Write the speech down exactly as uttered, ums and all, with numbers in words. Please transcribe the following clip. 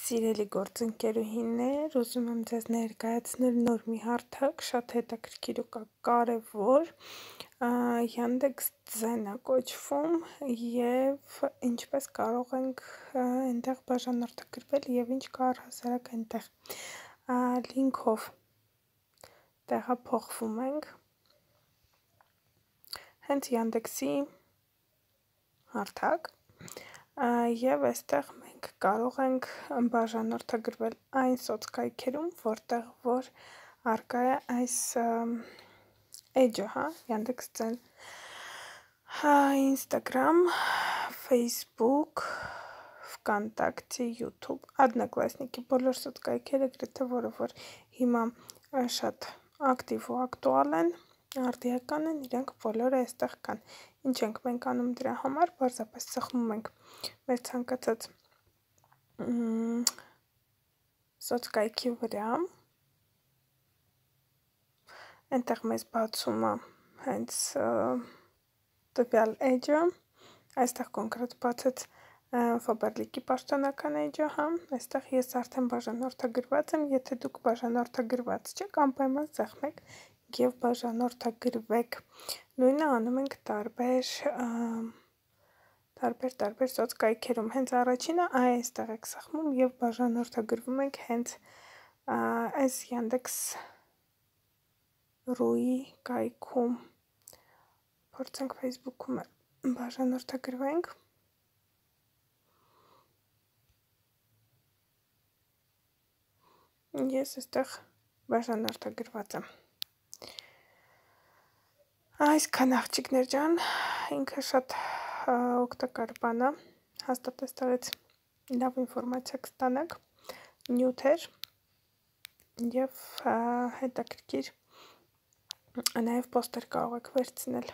Սիրելի գործընկերուհիներ, ուզում եմ ձեզ ներկայացնել նոր մի հարթակ, շատ հետաքրքիր ու կարևոր, Yandex Zen-ը կոչվում և ինչպես կարող ենք այնտեղ բաժանորդագրվել և ինչ կա առհասարակ այնտեղ, լինքով տեղափոխվում ենք, հենց Yandex-ի հարթակ և այստեղ մենք կարող ենք բաժանորդագրվել այն սոցկայքերում, որտեղ որ առկա է այս էջը, Yandex Zen, Instagram, Facebook, Vkontakte, YouTube, Odnoklassniki, բոլոր սոցկայքերը գրեթե, որը որ հիմա շատ ակտիվ ու ակտուալ են, արդիական են, իրենք բոլորը այստեղ կան, ինչ ենք մենք անում դրա համար, պարզապես սխմում ենք մեր ցանկացած սոցկայքի վրա, այնտեղ մեզ բացում է հենց տվյալ էջը, այստեղ կոնկրետ բացեց Faberlic-ի պաշտոնական էջը, այստեղ ես արդեն բաժանորդագրված եմ, եթե դուք բաժանորդագրված չեք, անպայման սեղմեք և բաժանորդագրվեք, նույնը անում ենք տարբեր տարբեր սոցկայքերում, հենց առաջինը այստեղ եք սեղմում և բաժանորդագրվում եք հենց այս Yandex.ru-ի կայքում, փորձենք Facebook-ում բաժանորդագրվենք, ես այստեղ բաժանորդագրված եմ, այսքան աղջիկներ ջան, ինքը շատ օգտակար բան է, հաստատ այստեղից լավ ինֆորմացիա կստանաք, նյութ էր և հետաքրքիր, նաև պոստեր կարող եք վերցնել։